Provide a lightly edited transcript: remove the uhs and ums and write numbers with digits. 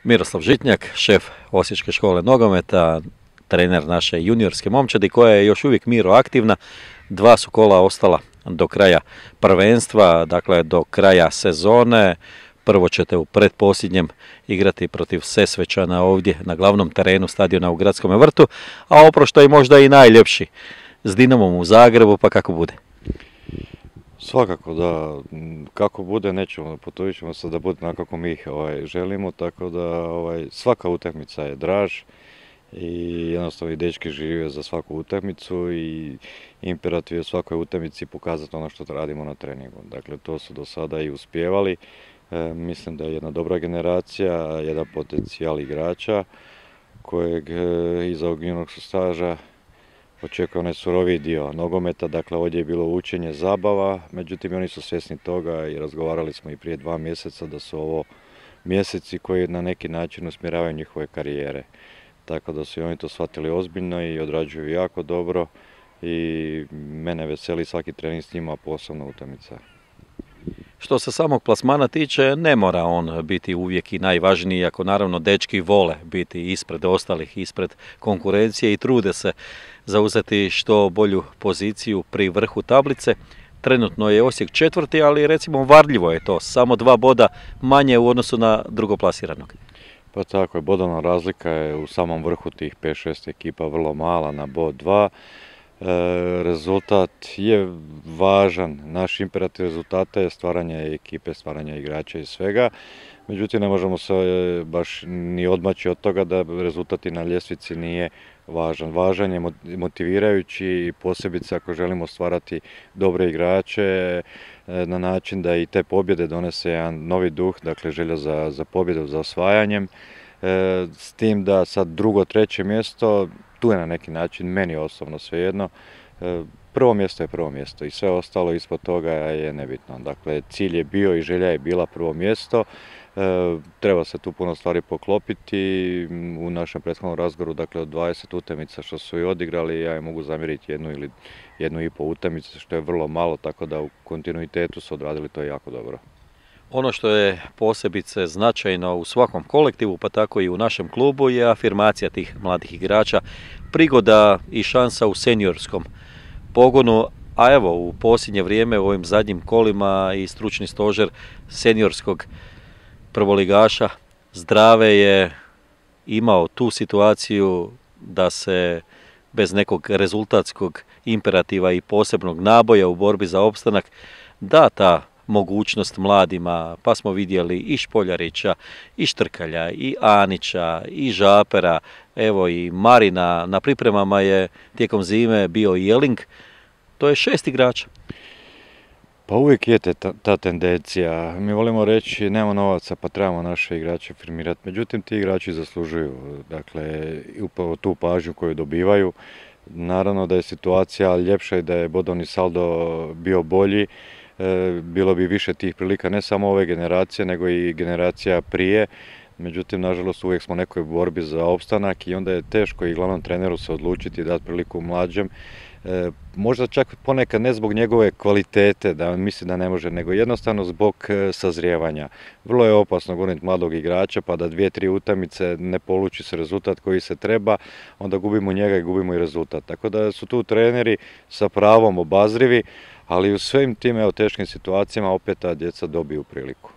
Miroslav Žitnjak, šef Osječke škole nogometa, trener naše juniorske momčadi koja je još uvijek Miro aktivna. 2 su kola ostala do kraja prvenstva, dakle do kraja sezone. Prvo ćete u pretposljednjem igrati protiv Sesvečana ovdje na glavnom terenu stadiona u Gradskom vrtu, a oproštaj je možda i najljepši s Dinamom u Zagrebu, pa kako bude? Svakako da, kako bude nećemo, potrudit ćemo se da bude onako kako mi ih želimo, tako da svaka utakmica je draž i jednostavno i dečki žive za svaku utakmicu i imperativ je u svakoj utakmici pokazati ono što radimo na treningu. Dakle, to su do sada i uspijevali. Mislim da je jedna dobra generacija, jedan potencijal igrača kojeg iza ovog juniorskog staža očekuje onaj suroviji dio nogometa, dakle ovdje je bilo učenje, zabava, međutim oni su svjesni toga i razgovarali smo i prije 2 mjeseca da su ovo mjeseci koji na neki način usmjeravaju njihove karijere. Tako da su i oni to shvatili ozbiljno i odrađuju jako dobro i mene veseli svaki trening s njima, posebno utakmica. Što se samog plasmana tiče, ne mora on biti uvijek i najvažniji, ako naravno dečki vole biti ispred ostalih, ispred konkurencije i trude se zauzeti što bolju poziciju pri vrhu tablice. Trenutno je Osijek 4., ali recimo varljivo je to, samo 2 boda manje u odnosu na drugoplasiranog. Pa tako je, bodovna razlika je u samom vrhu tih 5-6 ekipa vrlo mala na bod 2. Rezultat je važan, naš imperativ rezultata je stvaranje ekipe, stvaranje igrača i svega. Međutim, ne možemo se baš ni odmaći od toga da rezultat i na ljestvici nije važan. Važan je motivirajući i posebice ako želimo stvarati dobre igrače na način da i te pobjede donese jedan novi duh, dakle želja za pobjedu, za osvajanjem. S tim da sad 2., 3. mjesto, tu je na neki način meni osobno svejedno. Prvo mjesto je prvo mjesto i sve ostalo ispod toga je nebitno. Dakle, cilj je bio i želja je bila prvo mjesto. Treba se tu puno stvari poklopiti. U našem prethodnom razgovoru, dakle od 20 utakmica što su i odigrali, ja im mogu zamjeriti 1 ili 1,5 utakmicu, što je vrlo malo, tako da u kontinuitetu su odradili to jako dobro. Ono što je posebice značajno u svakom kolektivu, pa tako i u našem klubu, je afirmacija tih mladih igrača, prigoda i šansa u seniorskom pogonu, a evo u posljednje vrijeme u ovim zadnjim kolima i stručni stožer seniorskog prvoligaša Zdrave je imao tu situaciju da se bez nekog rezultatskog imperativa i posebnog naboja u borbi za opstanak da ta mogućnost mladima, pa smo vidjeli i Špoljarića, i Štrkalja, i Anića, i Žapera, evo i Marina, na pripremama je tijekom zime bio i Jeling, to je 6 igrača. Pa uvijek je ta tendencija, mi volimo reći nemamo novaca pa trebamo naše igrače firmirati, međutim ti igrači zaslužuju, dakle upravo tu pažnju koju dobivaju. Naravno da je situacija ljepša i da je bodovni saldo bio bolji, bilo bi više tih prilika ne samo ove generacije nego i generacija prije, međutim nažalost uvijek smo u nekoj borbi za opstanak i onda je teško i glavnom treneru se odlučiti i dati priliku mlađem. Možda čak ponekad ne zbog njegove kvalitete, da on misli da ne može, nego jednostavno zbog sazrijevanja. Vrlo je opasno goniti mladog igrača pa da 2-3 utakmice ne poluči se rezultat koji se treba, onda gubimo njega i gubimo i rezultat. Tako da su tu treneri sa pravom obazrivi, ali u svim tim teškim situacijama opet ta djeca dobiju priliku.